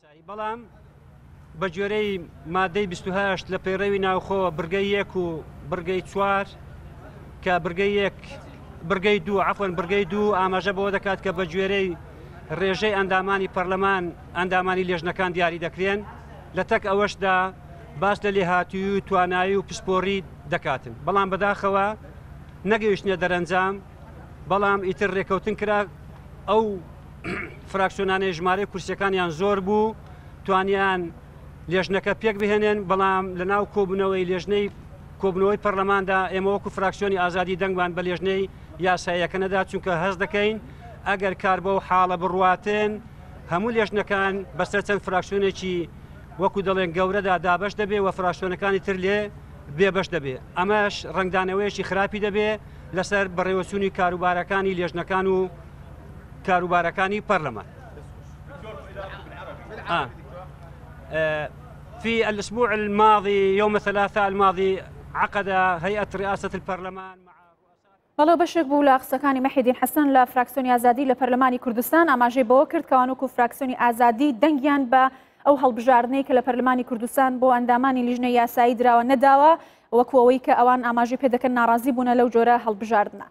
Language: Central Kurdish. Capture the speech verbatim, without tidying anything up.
بەڵام بە گوێرەی مادەی بیست و هەشت لە پەیڕەوی ناوخۆ بڕگەی یەک و بڕگەی چوار کە بڕگەی یەک بڕگەی دوو عەفوەن بڕگەی دوو ئاماژە بەوە دەکات کە بە گوێرەی ڕێژەی ئەندامانی پەرلەمان ئەندامانی لێژنەکان دیاری دەکرێن، لە تەک ئەوەشدا باس لە لێهاتووی و توانایی و پسپۆڕی دەکاتن، بەڵام بەداخەوە نەگەیشتنە دەرەنجام. بەڵام ئیتر ڕێکەوتن کرا ئەو فراکسیۆنانەی ژمارەی کورسیەکانیان زۆر بوو توانیان لێژنەکە پێک بهێنن، بەڵام لە ناو کۆبوونەوەی لێژنەی کۆبوونەوەی پەرلەماندا ئێمە وەکو فراکسیۆنی ئازادی دەنگمان بە لێژنەی یاساییەکە نەدا، چونکە هەست دەکەین ئەگەر کار بەو حاڵە بڕواتن هەموو لێژنەکان بەسەر چەند فراکسیۆنێکی وەکو دەڵێن گەورەدا دابەش دەبێ و فراکسیۆنەکانی تر لێ بێبەش دەبێ. ئەمەش ڕەنگدانەوەیەکی خراپی دەبێ لەسەر بەڕێوەچوونی کاروبارەکانی لێژنەکان و کاروبارەکانی پەرلەمان. آه. في الأسبوع الماضي يوم الثلاثاء الماضي عقد هيئة رئاسة البرلمان مع بەڵێ بەشێک بوو لە قسەکانی مەحیدین حەسەن لە فراکسیۆنی ئازادی لە پەرلەمانی کوردستان ئاماژەی بەوە کرد کەوان وەکو فراکسیۆنی ئازادی دەنگیان بە ئەو هەڵبژاردنەی کە لە پەرلەمانی کوردستان بۆ ئەندامانی لیژنەی یاسایی دراوە نەداوە، وەکو ئەوەی کە ئەوان ئاماژەی پێ دەکەن ناڕازی بوونە لەو جۆرە هەڵبژاردنە.